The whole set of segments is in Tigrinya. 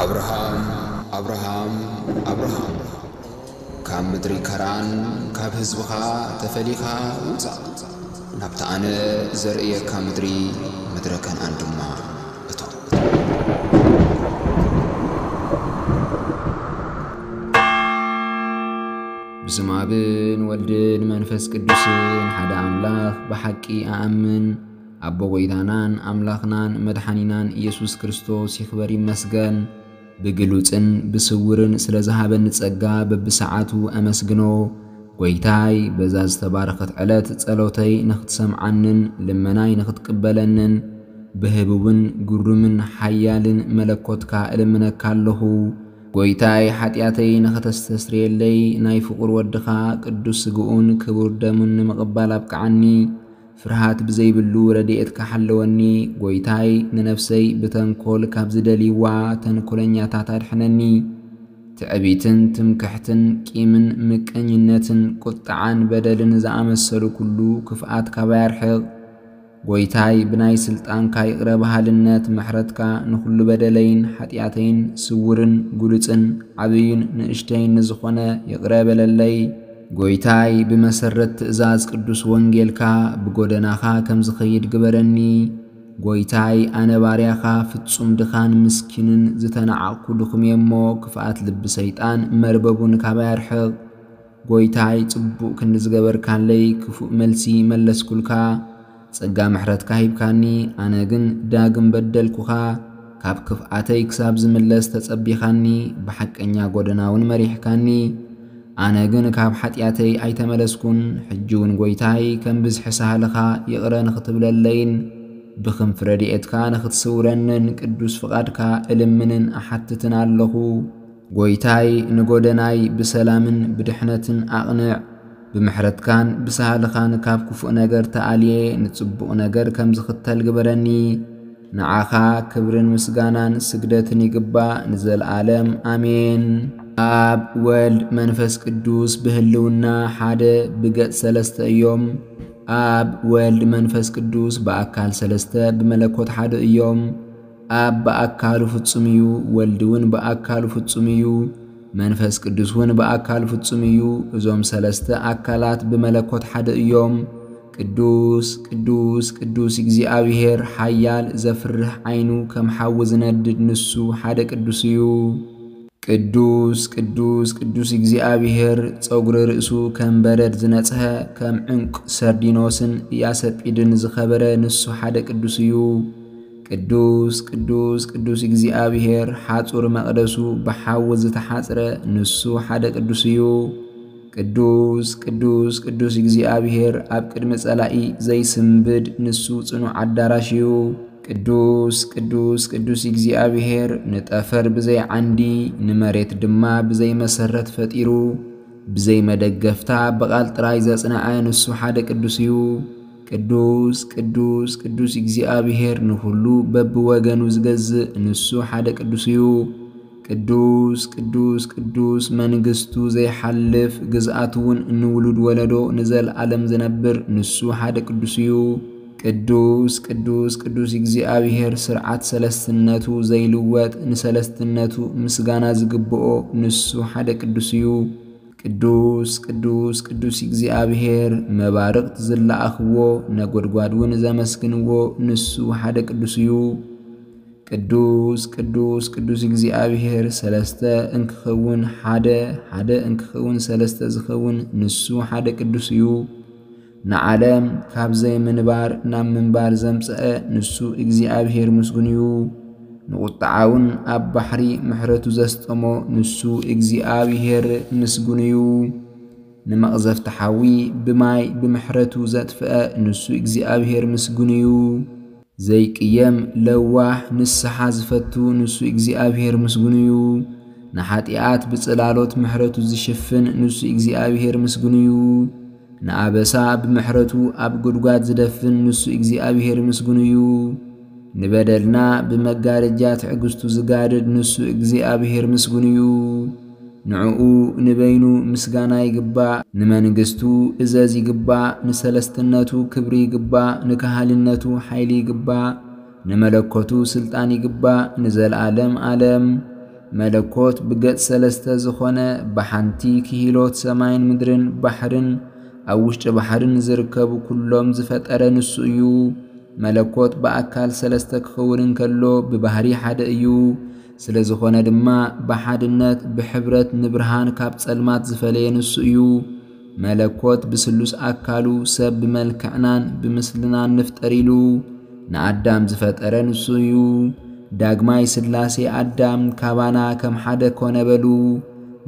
ኣብርሃም ኣብርሃም ኣብርሃም ካብ ምድሪ ከራን ካብ ህዝብኻ ተፈሊኻ ውጻእ፣ ናብታ ኣነ ዘርእየካ ምድሪ፣ ምድረ ከንኣን ድማ እቶ። ብስም ኣብን ወልድን መንፈስ ቅዱስን ሓደ ኣምላኽ ብሓቂ ኣኣምን። ኣቦ ጐይታናን ኣምላኽናን መድሓኒናን ኢየሱስ ክርስቶስ ይኽበር ይመስገን። ብግሉጽን ብስውርን ስለ ዝሃበኒ ጸጋ በብሰዓቱ ኣመስግኖ። ጐይታይ፣ በዛ ዝተባረኸት ዕለት ጸሎተይ ንኽትሰምዓንን ልመናይ ንኽትቅበለንን ብህቡብን ግሩምን ሓያልን መለኮትካ እልምነካ ኣለኹ። ጐይታይ፣ ሓጢኣተይ ንኸተስተስርየለይ ናይ ፍቑር ወድኻ ቅዱስ ስግኡን ክቡር ደሙን ንምቕባል ኣብቅዓኒ። ፍርሃት ብዘይብሉ ረድኤትካ ሓለወኒ። ጐይታይ፣ ንነፍሰይ ብተንኮል ካብ ዝደልይዋ ተንኮለኛታት ኣድሕነኒ። ትዕቢትን ትምክሕትን ቂምን ምቀኝነትን ቁጥዓን በደልን ዝኣመሰሉ ኩሉ ክፍኣት ካባይ ኣርሕቕ። ጐይታይ፣ ብናይ ስልጣንካ ይቕረ በሃልነት ምሕረትካ ንኹሉ በደለይን ሓጢኣተይን ስውርን ግሉጽን ዓብይን ንእሽተይን ንዝኾነ ይቕረ በለለይ። ጐይታይ፣ ብመሰረት ትእዛዝ ቅዱስ ወንጌልካ ብጎደናኻ ከም ዝኸይድ ግበረኒ። ጐይታይ፣ ኣነ ባርያኻ ፍጹም ድኻን ምስኪንን ዝተናዓቕኩ ድኹም እየ እሞ፣ ክፍኣት ልቢ ሰይጣን መርበቡን ካባይ ኣርሕቕ። ጐይታይ፣ ጽቡቕ ክንዲ ዝገበርካለይ ክፉእ መልሲ መለስኩልካ። ጸጋ ምሕረትካ ሂብካኒ፣ ኣነ ግን ዳግም በደልኩኻ። ካብ ክፍኣተይ ክሳብ ዝምለስ ተጸቢኻኒ፣ ብሓቀኛ ጐደና እውን መሪሕካኒ። ኣነ ግን ካብ ሓጢኣተይ ኣይተመለስኩን። ሕጂ እውን ጐይታይ፣ ከም ብዝሒ ሳህልኻ ይቕረ ንኽትብለለይን ብኽንፊ ረድኤትካ ንኽትስውረንን ቅዱስ ፍቓድካ እልምንን እሓትትን ኣለኹ። ጐይታይ፣ ንጎደናይ ብሰላምን ብድሕነትን ኣቕንዕ። ብምሕረትካን ብሳህልኻን ካብ ክፉእ ነገር ተኣልየ ንጽቡቕ ነገር ከም ዝኽተል ግበረኒ። ንዓኻ ክብርን ምስጋናን ስግደትን ይግባእ ንዘለኣለም። ኣሜን። ኣብ ወልድ መንፈስ ቅዱስ ብህልውና ሓደ ብገጽ ሰለስተ እዮም። ኣብ ወልድ መንፈስ ቅዱስ ብኣካል ሰለስተ ብመለኮት ሓደ እዮም። ኣብ ብኣካሉ ፍጹም እዩ፣ ወልድ እውን ብኣካሉ ፍጹም እዩ፣ መንፈስ ቅዱስ እውን ብኣካሉ ፍጹም እዩ። እዞም ሰለስተ ኣካላት ብመለኮት ሓደ እዮም። ቅዱስ ቅዱስ ቅዱስ እግዚኣብሔር፣ ሓያል ዘፍርህ ዓይኑ ከም ሓዊ ዝነድድ ንሱ ሓደ ቅዱስ እዩ። ቅዱስ ቅዱስ ቅዱስ እግዚኣብሔር፣ ጸጉሪ ርእሱ ከም በረድ ዝነጽሀ፣ ከም ዕንቁ ሰርዲኖስን ኢያሰጲድን ዝኸበረ ንሱ ሓደ ቅዱስ እዩ። ቅዱስ ቅዱስ ቅዱስ እግዚኣብሔር፣ ሓጹር መቕደሱ ብሓዊ ዝተሓጽረ ንሱ ሓደ ቅዱስ እዩ። ቅዱስ ቅዱስ ቅዱስ እግዚኣብሔር፣ ኣብ ቅድሚ ጸላኢ ዘይስንብድ ንሱ ጽኑዕ ኣዳራሽ እዩ። ቅዱስ ቅዱስ ቅዱስ እግዚኣብሔር፣ ንጠፈር ብዘይ ዓንዲ፣ ንመሬት ድማ ብዘይ መሰረት ፈጢሩ፣ ብዘይ መደገፍታ ብቓል ጥራይ ዘጽንዐ ንሱ ሓደ ቅዱስ እዩ። ቅዱስ ቅዱስ ቅዱስ እግዚኣብሔር፣ ንኹሉ በብወገኑ ዝገዝእ ንሱ ሓደ ቅዱስ እዩ። ቅዱስ ቅዱስ ቅዱስ፣ መንግስቱ ዘይሓልፍ፣ ግዝኣቱ እውን ንውሉድ ወለዶ ንዘለኣለም ዝነብር ንሱ ሓደ ቅዱስ እዩ። ቅዱስ ቅዱስ ቅዱስ እግዚኣብሔር፣ ስርዓት ሰለስትነቱ ዘይልወጥ፣ ንሰለስትነቱ ምስጋና ዝግብኦ ንሱ ሓደ ቅዱስ እዩ። ቅዱስ ቅዱስ ቅዱስ እግዚኣብሔር፣ መባርቕት ዝለኣኽዎ፣ ነጎድጓድ እውን ዘመስግንዎ ንሱ ሓደ ቅዱስ እዩ። ቅዱስ ቅዱስ ቅዱስ እግዚኣብሔር፣ ሰለስተ እንክኸውን ሓደ፣ ሓደ እንክኸውን ሰለስተ ዝኸውን ንሱ ሓደ ቅዱስ እዩ። ንዓለም ካብ ዘይምንባር ናብ ምንባር ዘምጽአ ንሱ እግዚኣብሔር ምስጉን እዩ። ንቑጥዓውን ኣብ ባሕሪ ምሕረቱ ዘስጠሞ ንሱ እግዚኣብሔር ምስጉን እዩ። ንመቕዘፍቲ ሓዊ ብማይ ብምሕረቱ ዘጥፍአ ንሱ እግዚኣብሔር ምስጉን እዩ። ዘይቅየም ለዋህ ንስሓ ዝፈቱ ንሱ እግዚኣብሔር ምስጉን እዩ። ንሓጢኣት ብጽላሎት ምሕረቱ ዝሽፍን ንሱ እግዚኣብሔር ምስጉን እዩ። ንኣበሳ ብምሕረቱ ኣብ ጉድጓድ ዝደፍን ንሱ እግዚኣብሔር ምስጉን እዩ። ንበደልና ብመጋረጃ ትዕግስቱ ዝጋርድ ንሱ እግዚኣብሔር ምስጉን እዩ። ንዕኡ ንበይኑ ምስጋና ይግባእ፣ ንመንግስቱ እዘዝ ይግባእ፣ ንሰለስትነቱ ክብሪ ይግባእ፣ ንካህልነቱ ሓይሊ ይግባእ፣ ንመለኮቱ ስልጣን ይግባእ ንዘለዓለም ዓለም። መለኮት ብገጽ ሰለስተ ዝኾነ፣ ብሓንቲ ክሂሎት ሰማይን ምድርን ባሕርን ኣብ ውሽጢ ባሕርን ዝርከቡ ኩሎም ዝፈጠረ ንሱ እዩ። መለኮት ብኣካል ሰለስተ ክኸውን እንከሎ፣ ብባህሪ ሓደ እዩ። ስለ ዝኾነ ድማ ብሓድነት ብሕብረት ንብርሃን ካብ ጸልማት ዝፈለየ ንሱ እዩ። መለኮት ብስሉስ ኣካሉ ሰብ ብመልክዕናን ብምስልናን ንፍጠር ኢሉ ንኣዳም ዝፈጠረ ንሱ እዩ። ዳግማይ ስላሴ ኣዳም ካባና ከም ሓደ ኮነ በሉ።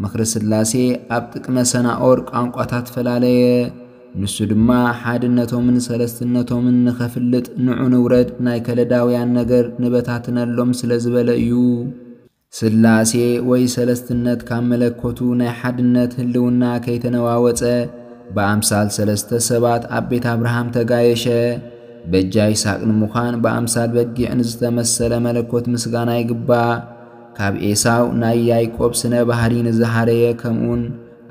ምኽሪ ስላሴ ኣብ ጥቅመ ሰናኦር ቋንቋታት ፈላለየ። ንሱ ድማ ሓድነቶምን ሰለስትነቶምን ንኸፍልጥ ንዑ ንውረድ ናይ ከለዳውያን ነገር ንበታትነሎም ስለ ዝበለ እዩ። ስላሴ ወይ ሰለስትነት ካብ መለኮቱ ናይ ሓድነት ህልውና ከይተነዋወጸ ብኣምሳል ሰለስተ ሰባት ኣብ ቤት ኣብርሃም ተጋየሸ። በጃ ይስሐቅ ንምዃን ብኣምሳል በጊዕ ንዝተመሰለ መለኮት ምስጋና ይግባእ። ካብ ኤሳው ናይ ያይቆብ ስነ ባህሪ ንዝሃረየ ከምኡን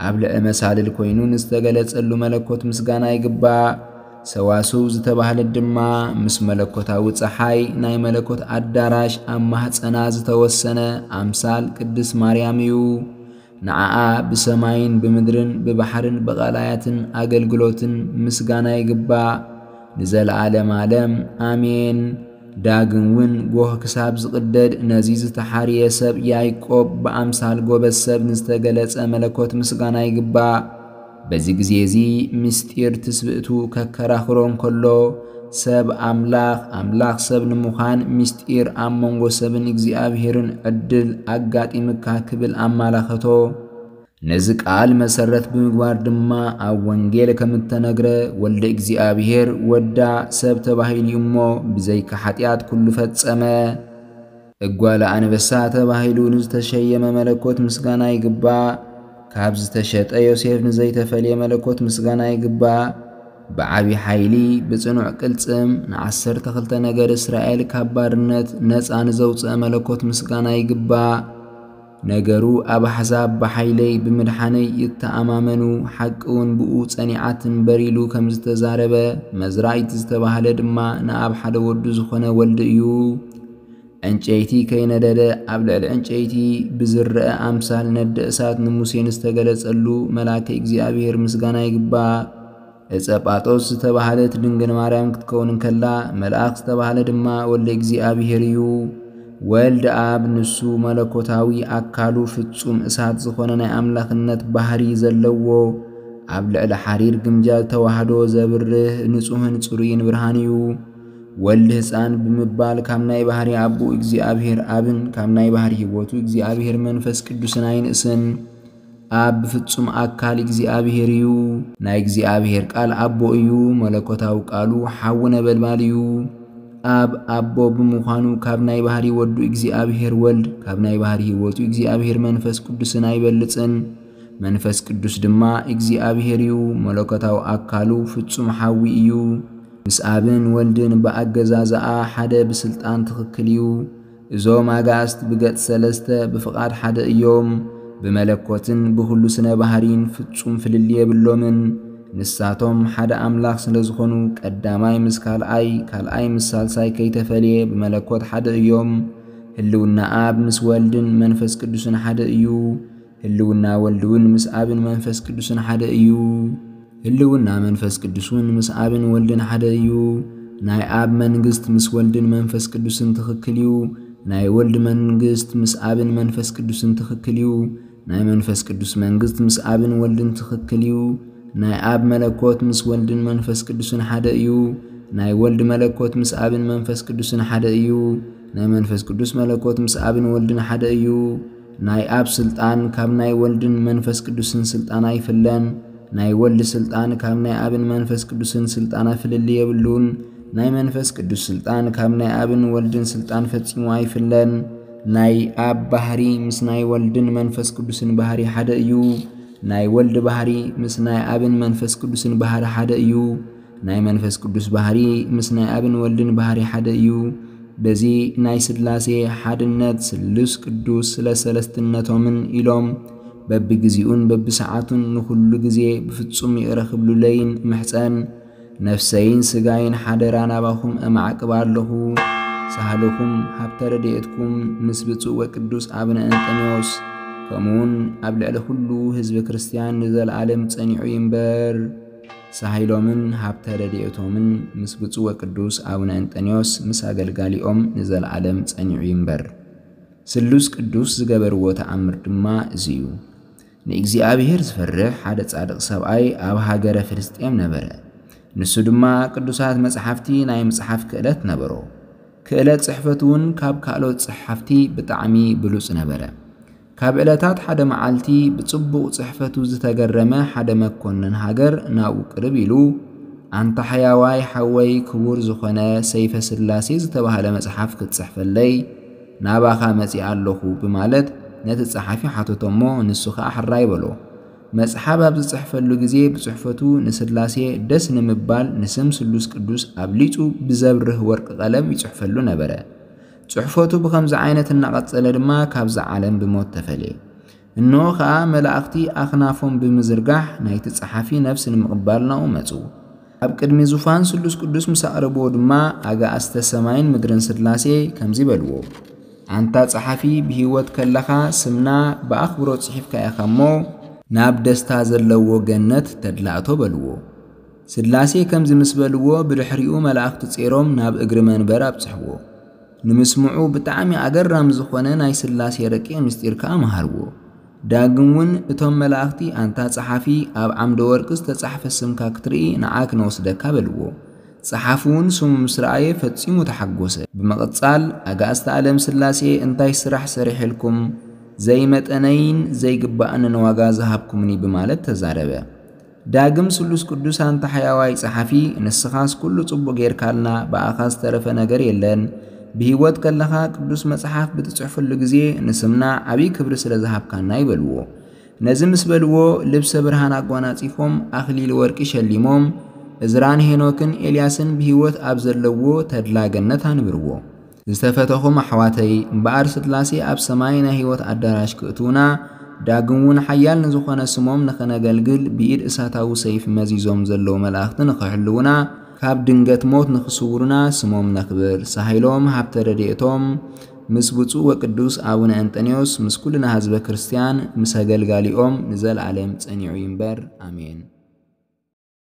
ኣብ ልዕሊ መሳልል ኮይኑ ንዝተገለጸሉ መለኮት ምስጋና ይግባእ። ሰዋስው ዝተባህለት ድማ ምስ መለኮታዊ ጸሓይ ናይ መለኮት ኣዳራሽ ኣብ ማህጸና ዝተወሰነ ኣምሳል ቅድስት ማርያም እዩ። ንዓኣ ብሰማይን ብምድርን ብባሕርን ብቐላያትን ኣገልግሎትን ምስጋና ይግባእ ንዘለዓለም ዓለም ኣሜን። ዳግም እውን ጎህ ክሳብ ዝቕደድ ነዚ ዝተሓርየ ሰብ ያይቆብ ብኣምሳል ጎበዝ ሰብ ንዝተገለጸ መለኮት ምስጋና ይግባእ። በዚ ግዜ እዚ ምስጢር ትስብእቱ ከከራኽሮ እንከሎ፣ ሰብ ኣምላኽ፣ ኣምላኽ ሰብ ንምዃን ምስጢር ኣብ መንጎ ሰብን እግዚኣብሔርን ዕድል ኣጋጢምካ ክብል ኣማላኸቶ። ነዚ ቃል መሰረት ብምግባር ድማ ኣብ ወንጌል ከም እተነግረ፣ ወልደ እግዚኣብሔር ወዳ ሰብ ተባሂሉ እዩ እሞ፣ ብዘይካ ሓጢኣት ኩሉ ፈጸመ። እጓለ ኣንበሳ ተባሂሉ ንዝተሸየመ መለኮት ምስጋና ይግባእ። ካብ ዝተሸጠ ዮሴፍ ንዘይተፈልየ መለኮት ምስጋና ይግባእ። ብዓቢ ሓይሊ ብጽኑዕ ቅልጽም ንዓሰርተ ክልተ ነገድ እስራኤል ካብ ባርነት ነጻ ንዘውጽአ መለኮት ምስጋና ይግባእ። ነገሩ ኣብ ኣሕዛብ ብሓይለይ ብምድሓነይ ይተኣማመኑ፣ ሓቂ እውን ብኡ ጸኒዓ ትንበር ኢሉ ከም ዝተዛረበ፣ መዝራእቲ ዝተባህለ ድማ ንኣብ ሓደ ወዱ ዝኾነ ወልዲ እዩ። ዕንጨይቲ ከይነደደ ኣብ ልዕሊ ዕንጨይቲ ብዝረአ ኣምሳል ነደ እሳት ንሙሴ ንዝተገለጸሉ መልኣከ እግዚኣብሔር ምስጋና ይግባእ። ዕጸ ጳጦስ ዝተባህለት ድንግል ማርያም ክትከውን እንከላ፣ መልኣኽ ዝተባህለ ድማ ወልደ እግዚኣብሔር እዩ። ወልድ ኣብ ንሱ መለኮታዊ ኣካሉ ፍጹም እሳት ዝኾነ ናይ ኣምላኽነት ባህሪ ዘለዎ፣ ኣብ ልዕሊ ሓሪር ግምጃ ዝተዋህዶ ዘብርህ ንጹህን ጽሩይን ብርሃን እዩ። ወልድ ህፃን ብምባል ካብ ናይ ባህሪ ኣቦኡ እግዚኣብሔር ኣብን ካብ ናይ ባህሪ ህይወቱ እግዚኣብሔር መንፈስ ቅዱስን ኣይንእስን። ኣብ ብፍጹም ኣካል እግዚኣብሔር እዩ። ናይ እግዚኣብሔር ቃል ኣቦ እዩ። መለኮታዊ ቃሉ ሓዊ ነበልባል እዩ። ኣብ ኣቦ ብምዃኑ ካብ ናይ ባህሪ ወዱ እግዚኣብሔር ወልድ፣ ካብ ናይ ባህሪ ህይወቱ እግዚኣብሔር መንፈስ ቅዱስን ኣይበልጽን። መንፈስ ቅዱስ ድማ እግዚኣብሔር እዩ። መለኮታዊ ኣካሉ ፍጹም ሓዊ እዩ። ምስ ኣብን ወልድን ብኣገዛዝኣ ሓደ ብስልጣን ትኽክል እዩ። እዞም ኣጋእዝት ብገጽ ሰለስተ ብፍቓድ ሓደ እዮም። ብመለኮትን ብኹሉ ስነ ባህሪን ፍጹም ፍልልይ የብሎምን። ንሳቶም ሓደ ኣምላኽ ስለ ዝኾኑ፣ ቀዳማይ ምስ ካልኣይ፣ ካልኣይ ምስ ሳልሳይ ከይተፈልየ ብመለኮት ሓደ እዮም። ህልውና ኣብ ምስ ወልድን መንፈስ ቅዱስን ሓደ እዩ። ህልውና ወልድ እውን ምስ ኣብን መንፈስ ቅዱስን ሓደ እዩ። ህልውና መንፈስ ቅዱስ እውን ምስ ኣብን ወልድን ሓደ እዩ። ናይ ኣብ መንግስት ምስ ወልድን መንፈስ ቅዱስን ትኽክል እዩ። ናይ ወልድ መንግስት ምስ ኣብን መንፈስ ቅዱስን ትኽክል እዩ። ናይ መንፈስ ቅዱስ መንግስት ምስ ኣብን ወልድን ትኽክል እዩ። ናይ ኣብ መለኮት ምስ ወልድን መንፈስ ቅዱስን ሓደ እዩ። ናይ ወልድ መለኮት ምስ ኣብን መንፈስ ቅዱስን ሓደ እዩ። ናይ መንፈስ ቅዱስ መለኮት ምስ ኣብን ወልድን ሓደ እዩ። ናይ ኣብ ስልጣን ካብ ናይ ወልድን መንፈስ ቅዱስን ስልጣን ኣይፍለን። ናይ ወልድ ስልጣን ካብ ናይ ኣብን መንፈስ ቅዱስን ስልጣን ፍልልይ የብሉን። ናይ መንፈስ ቅዱስ ስልጣን ካብ ናይ ኣብን ወልድን ስልጣን ፈጺሙ ኣይፍለን። ናይ ኣብ ባህሪ ምስ ናይ ወልድን መንፈስ ቅዱስን ባህሪ ሓደ እዩ። ናይ ወልድ ባህሪ ምስ ናይ ኣብን መንፈስ ቅዱስን ባህሪ ሓደ እዩ። ናይ መንፈስ ቅዱስ ባህሪ ምስ ናይ ኣብን ወልድን ባህሪ ሓደ እዩ። በዚ ናይ ስላሴ ሓድነት ስሉስ ቅዱስ ስለ ሰለስትነቶምን ኢሎም በብግዜኡን በብሰዓቱን ንኹሉ ግዜ ብፍጹም ይቕረ ክብሉለይን እምሕጸን። ነፍሰይን ስጋይን ሓደራ ናባኹም እማዕቅባ ኣለኹ። ሳህልኹም ሃብተ ረድኤትኩም ምስ ብፁዕ ወቅዱስ ኣቡነ እንጠንዮስ፣ ከምኡውን ኣብ ልዕሊ ኩሉ ህዝቢ ክርስቲያን ንዘለዓለም ጸኒዑ ይንበር። ሳህይሎምን ሃብተ ረድኤቶምን ምስ ብፁዕ ወቅዱስ ኣቡነ እንጠንዮስ ምስ ኣገልጋሊኦም ንዘለዓለም ጸኒዑ ይንበር። ስሉስ ቅዱስ ዝገበርዎ ተኣምር ድማ እዚ እዩ። ንእግዚኣብሔር ዝፈርሕ ሓደ ጻድቕ ሰብኣይ ኣብ ሃገረ ፍልስጤም ነበረ። ንሱ ድማ ቅዱሳት መጽሓፍቲ ናይ ምጽሓፍ ክእለት ነበሮ። ክእለት ጽሕፈቱ እውን ካብ ካልኦት ጸሓፍቲ ብጣዕሚ ብሉጽ ነበረ። ካብ ዕለታት ሓደ መዓልቲ ብጽቡቕ ጽሕፈቱ ዝተገረመ ሓደ መኮንን ሃገር ናብኡ ቅርብ ኢሉ፣ "ኣንታ ሕያዋይ ሓወይ ክቡር ዝኾነ ሰይፈ ስላሴ ዝተባህለ መጽሓፍ ክትጽሕፈለይ ናባኻ መጺኣ ኣለኹ" ብማለት ነቲ ጸሓፊ ሓተቶ እሞ ንሱ ኸኣ ሕራይ በሎ። መጽሓፍ ኣብ ዝጽሕፈሉ ግዜ ብጽሕፈቱ ንስላሴ ደስ ንምባል ንስም ስሉስ ቅዱስ ኣብሊጹ ብዘብርህ ወርቂ ቀለም ይጽሕፈሉ ነበረ። ጽሕፈቱ ብኸምዚ ዓይነት እናቐጸለ ድማ ካብዛ ዓለም ብሞት ተፈልየ። እንሆ ኸኣ መላእኽቲ ኣኽናፎም ብምዝርጋሕ ናይቲ ጸሓፊ ነፍሲ ንምቕባል ናብኡ መጹ። ኣብ ቅድሚ ዙፋን ስሉስ ቅዱስ ምስ ኣቕረብዎ ድማ ኣጋእዝተ ሰማይን ምድርን ስላሴ ከምዚ በልዎ፣ "ኣንታ ጸሓፊ ብህይወት ከለኻ ስምና ብኣኽብሮት ጽሒፍካ ኢኻ እሞ ናብ ደስታ ዘለዎ ገነት ተድላእቶ" በልዎ። ስላሴ ከምዚ ምስ በልዎ ብድሕሪኡ መላእኽቲ ጼሮም ናብ እግሪ መንበር ኣብጽሕዎ። ንምስምዑ ብጣዕሚ ኣገራሚ ዝኾነ ናይ ስላሴ ረቂቕ ምስጢር ከኣ መሃርዎ። ዳግም እውን እቶም መላእኽቲ ኣንታ ጸሓፊ ኣብ ዓምደ ወርቂ ዝተጻሕፈ ስምካ ክትርኢ ንዓ ክነወስደካ በልዎ። ጸሓፊ እውን ስሙ ምስ ረኣየ ፈጺሙ ተሓጎሰ። ብምቕጻል ኣጋእዝተ ዓለም ስላሴ እንታይ ስራሕ ሰሪሐልኩም ዘይመጠነይን ዘይግባእንን ዋጋ ዝሃብኩምኒ ብማለት ተዛረበ። ዳግም ስሉስ ቅዱስ ኣንታ ሕያዋይ ጸሓፊ ንስኻስ ኩሉ ጽቡቕ ጌርካልና ብኣኻ ዝተረፈ ነገር የለን። ብህይወት ከለኻ ቅዱስ መጽሓፍ ብትጽሕፈሉ ግዜ ንስምና ዓብዪ ክብሪ ስለ ዝሃብካና ይበልዎ። ነዚ ምስ በልዎ ልብሰ ብርሃን ኣጓናጺፎም ኣኽሊል ወርቂ ሸሊሞም እዝራን ሄኖክን ኤልያስን ብህይወት ኣብ ዘለዎ ተድላ ገነት ኣንብርዎ። ዝተፈተኹም ኣሕዋተይ እምበኣር ስላሴ ኣብ ሰማይ ናይ ህይወት ኣዳራሽ ክእትውና ዳግም እውን ሓያል ንዝኾነ ስሞም ንኸነገልግል ብኢድ እሳታዊ ሰይፍ መዚዞም ዘለዉ መላእኽቲ ንኽሕልውና ካብ ድንገት ሞት ንኽስውሩና ስሞም ነኽብር። ሳህይሎም ሃብተ ረድኤቶም ምስ ብፁዕ ወቅዱስ ኣቡነ እንጠንዮስ ምስ ኩልና ህዝበ ክርስቲያን ምስ ኣገልጋሊኦም ንዘለዓለም ጸኒዑ ይንበር። ኣሜን።